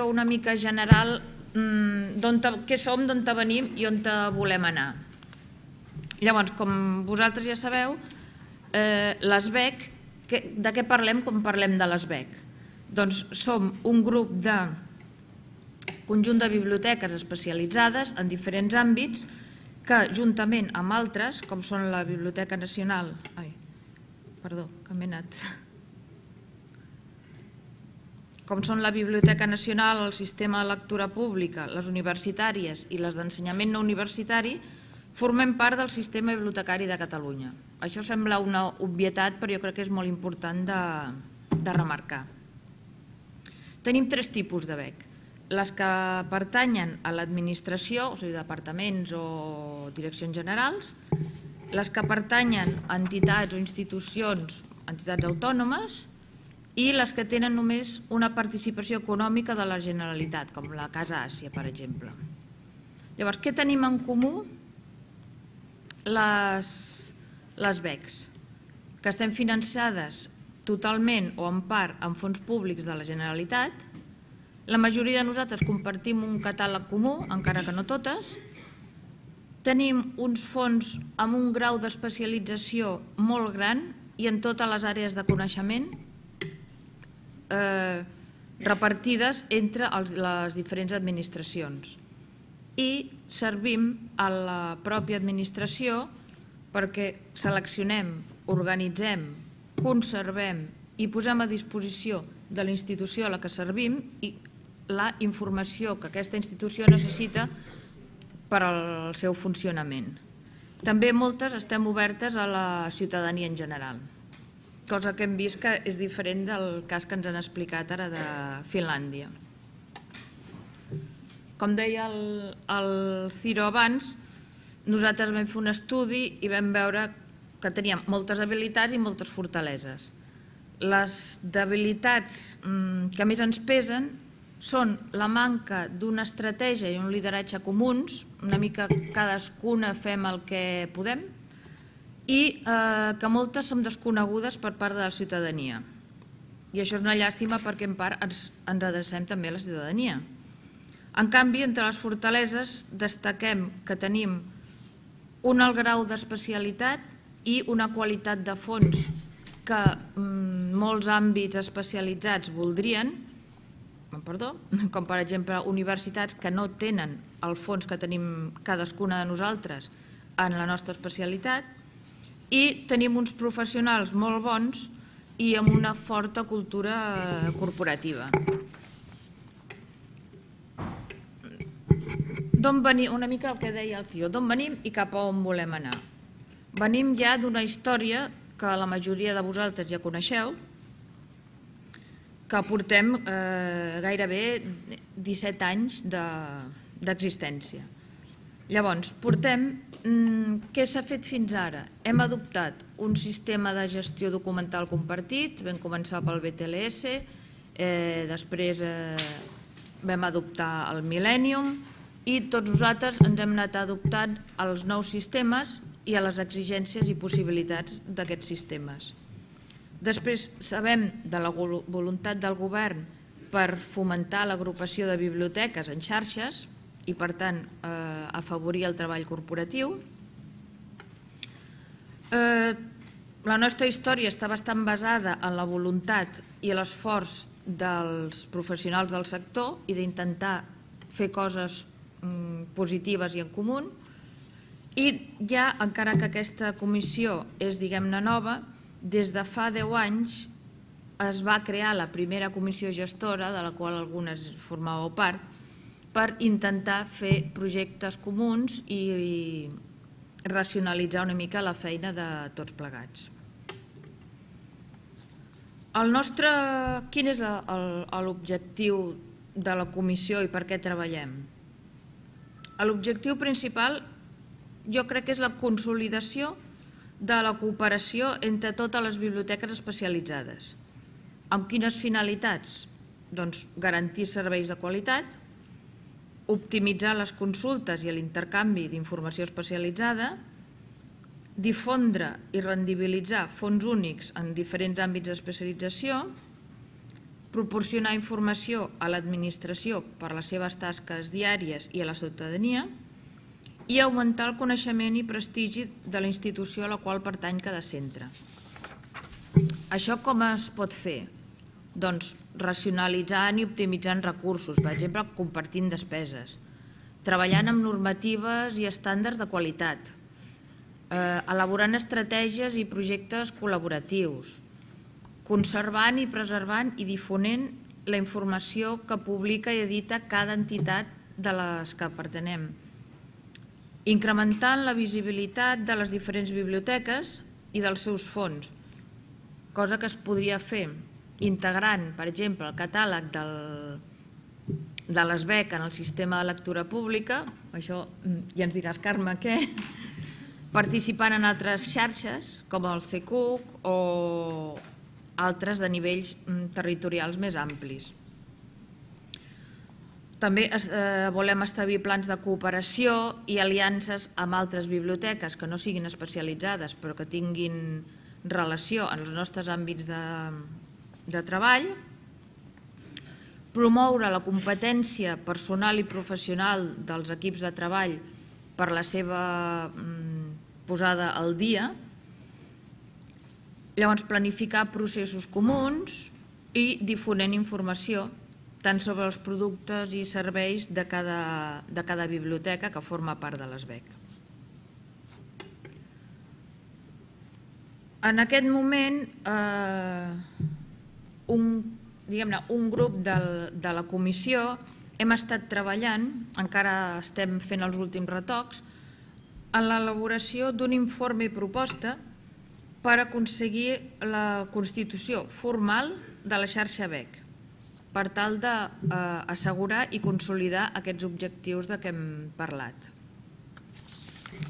una mica general què som, d'on venim i on volem anar. Llavors, com vosaltres ja sabeu, l'ESBEC, de què parlem quan parlem de l'ESBEC? Doncs som un grup de conjunt de biblioteques especialitzades en diferents àmbits que, juntament amb altres, com són la Biblioteca Nacional... Perdó, que m'he anat... Com són la Biblioteca Nacional, el Sistema de Lectura Pública, les universitàries i les d'ensenyament no universitari, formem part del sistema bibliotecari de Catalunya. Això sembla una obvietat, però jo crec que és molt important de remarcar. Tenim tres tipus de BEC. Les que pertanyen a l'administració, o sigui, departaments o direccions generals, les que pertanyen a entitats o institucions, entitats autònomes, i les que tenen només una participació econòmica de la Generalitat, com la Casa Àsia, per exemple. Llavors, què tenim en comú les BECs? Que estem finançades totalment o en part amb fons públics de la Generalitat. La majoria de nosaltres compartim un catàleg comú, encara que no totes. Tenim uns fons amb un grau d'especialització molt gran i en totes les àrees de coneixement repartides entre les diferents administracions. I servim a la pròpia administració perquè seleccionem, organitzem, conservem i posem a disposició de la institució a la que servim la informació que aquesta institució necessita per al seu funcionament. També moltes estem obertes a la ciutadania en general, cosa que hem vist que és diferent del cas que ens han explicat ara de Finlàndia. Com deia el Ciro abans, nosaltres vam fer un estudi i vam veure que teníem moltes habilitats i moltes fortaleses. Les debilitats que més ens pesen són la manca d'una estratègia i un lideratge comuns, una mica cadascuna fem el que podem, i que moltes són desconegudes per part de la ciutadania. I això és una llàstima perquè en part ens adrecem també a la ciutadania. En canvi, entre les fortaleses destaquem que tenim un alt grau d'especialitat i una qualitat de fons que molts àmbits especialitzats voldrien, com per exemple universitats que no tenen el fons que tenim cadascuna de nosaltres en la nostra especialitat, i tenim uns professionals molt bons i amb una forta cultura corporativa. D'on venim? Una mica el que deia el Ciro, d'on venim i cap a on volem anar. Venim ja d'una història que la majoria de vosaltres ja coneixeu, que portem gairebé 17 anys d'existència. Llavors, què s'ha fet fins ara? Hem adoptat un sistema de gestió documental compartit, vam començar pel BTLS, després vam adoptar el Millennium i tots nosaltres ens hem anat adoptant als nous sistemes i a les exigències i possibilitats d'aquests sistemes. Després sabem de la voluntat del govern per fomentar l'agrupació de biblioteques en xarxes i, per tant, afavorir el treball corporatiu. La nostra història està bastant basada en la voluntat i l'esforç dels professionals del sector i d'intentar fer coses positives i en comú. I ja, encara que aquesta comissió és, diguem-ne, nova, des de fa 10 anys es va crear la primera comissió gestora, de la qual algunes formàveu part, per intentar fer projectes comuns i racionalitzar una mica la feina de tots plegats. Quin és l'objectiu de la comissió i per què treballem? L'objectiu principal jo crec que és la consolidació de la cooperació entre totes les biblioteques especialitzades. Amb quines finalitats? Doncs garantir serveis de qualitat, optimitzar les consultes i l'intercanvi d'informació especialitzada, difondre i rendibilitzar fons únics en diferents àmbits d'especialització proporcionar informació a l'administració per les seves tasques diàries i a la ciutadania i augmentar el coneixement i prestigi de la institució a la qual pertany cada centre. Això com es pot fer? Doncs racionalitzant i optimitzant recursos, per exemple, compartint despeses, treballant amb normatives i estàndards de qualitat, elaborant estratègies i projectes col·laboratius, conservant i preservant i difonent la informació que publica i edita cada entitat de les que pertenem, incrementant la visibilitat de les diferents biblioteques i dels seus fons, cosa que es podria fer integrant, per exemple, el catàleg de l'ESBEC en el sistema de lectura pública, això ja ens diràs, Carme, què? Participant en altres xarxes, com el CCUC o altres de nivells territorials més amplis. També volem establir plans de cooperació i aliances amb altres biblioteques que no siguin especialitzades però que tinguin relació en els nostres àmbits de treball, promoure la competència personal i professional dels equips de treball per la seva posada al dia, llavors planificar processos comuns i difonent informació tant sobre els productes i serveis de cada biblioteca que forma part de l'ESBEC. En aquest moment, un grup de la comissió hem estat treballant, encara estem fent els últims retocs, en l'elaboració d'un informe i proposta per aconseguir la constitució formal de la xarxa BEC, per tal d'assegurar i consolidar aquests objectius de què hem parlat.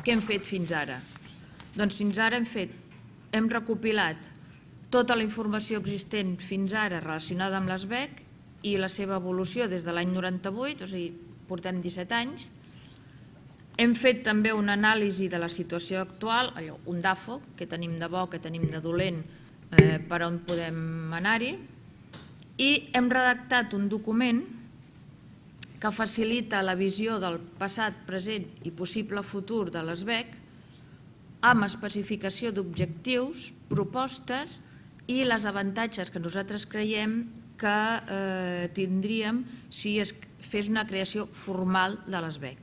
Què hem fet fins ara? Doncs fins ara hem recopilat tota la informació existent fins ara relacionada amb l'ESBEC i la seva evolució des de l'any 98, o sigui, portem 17 anys. Hem fet també una anàlisi de la situació actual, un DAFO, què tenim de bo, què tenim de dolent, per on podem anar-hi, i hem redactat un document que facilita la visió del passat, present i possible futur de l'ESBEC amb especificació d'objectius, propostes i les avantatges que nosaltres creiem que tindríem si es fes una creació formal de l'ESBEC.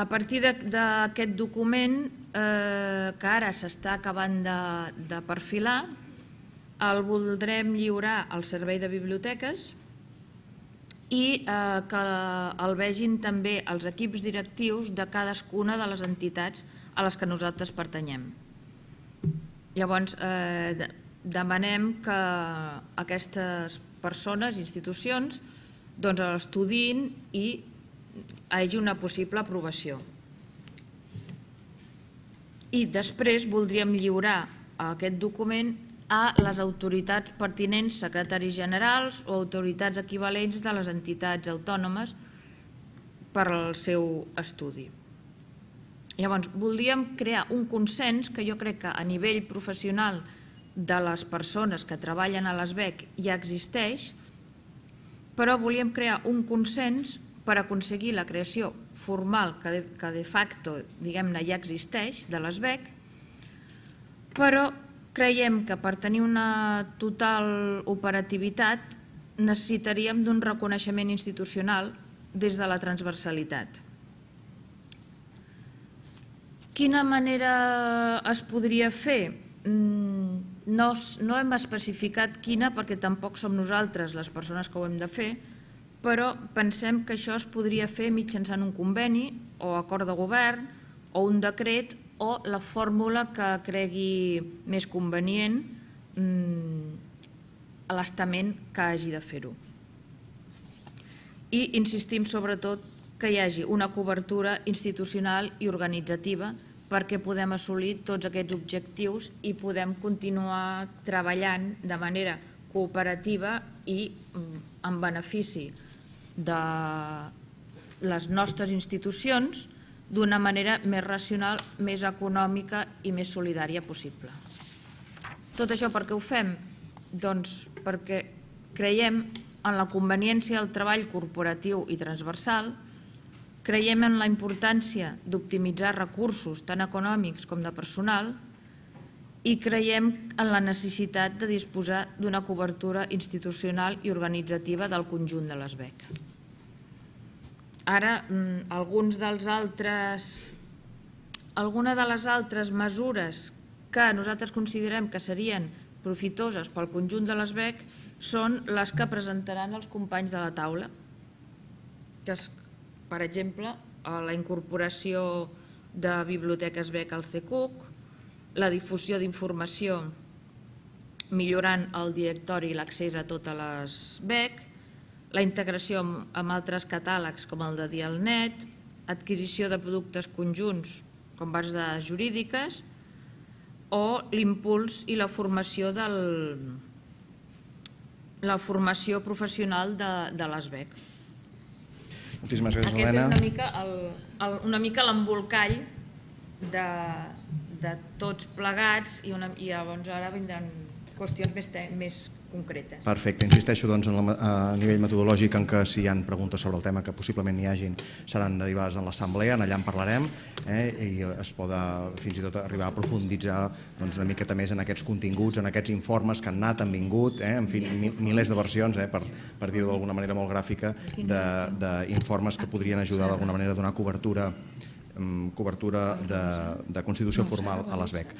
A partir d'aquest document, que ara s'està acabant de perfilar, el voldrem lliurar al Servei de Biblioteques i que el vegin també els equips directius de cadascuna de les entitats a les que nosaltres pertanyem. Llavors, demanem que aquestes persones, institucions, l'estudin i hi hagi una possible aprovació. I després voldríem lliurar aquest document a les autoritats pertinents, secretaris generals o autoritats equivalents de les entitats autònomes per al seu estudi. Llavors, voldríem crear un consens que jo crec que a nivell professional de les persones que treballen a l'ESBEC ja existeix, però volíem crear un consens per aconseguir la creació formal que de facto, diguem-ne, ja existeix de l'ESBEC, però creiem que per tenir una total operativitat necessitaríem d'un reconeixement institucional des de la transversalitat. Quina manera es podria fer? No hem especificat quina perquè tampoc som nosaltres les persones que ho hem de fer, però pensem que això es podria fer mitjançant un conveni o acord de govern o un decret o la fórmula que cregui més convenient a l'estament que hagi de fer-ho. I insistim sobretot que hi hagi una cobertura institucional i organitzativa perquè podem assolir tots aquests objectius i podem continuar treballant de manera cooperativa i en benefici de les nostres institucions d'una manera més racional, més econòmica i més solidària possible. Tot això per què ho fem? Doncs perquè creiem en la conveniència del treball corporatiu i transversal, creiem en la importància d'optimitzar recursos tant econòmics com de personal i creiem en la necessitat de disposar d'una cobertura institucional i organitzativa del conjunt de l'ESVEC. Ara, alguna de les altres mesures que nosaltres considerem que serien profitoses pel conjunt de l'ESVEC són les que presentaran els companys de la taula, que és, per exemple, la incorporació de biblioteques BEC al CECUC, la difusió d'informació millorant el directori i l'accés a totes les BEC, la integració amb altres catàlegs com el de Dialnet, adquisició de productes conjunts com bases de dades jurídiques o l'impuls i la formació professional de l'ESVEC. Moltíssimes gràcies, Aquest Helena. és una mica l'embolcall de tots plegats i llavors ara vindran qüestions més concretes. Perfecte. Insisteixo a nivell metodològic en que si hi ha preguntes sobre el tema que possiblement n'hi hagin seran derivades en l'assemblea, allà en parlarem i es pot fins i tot arribar a profunditzar una miqueta més en aquests continguts, en aquests informes que han anat, han vingut, en fi, milers de versions, per dir-ho d'alguna manera molt gràfica, d'informes que podrien ajudar d'alguna manera a donar cobertura de constitució formal a l'ESVEC.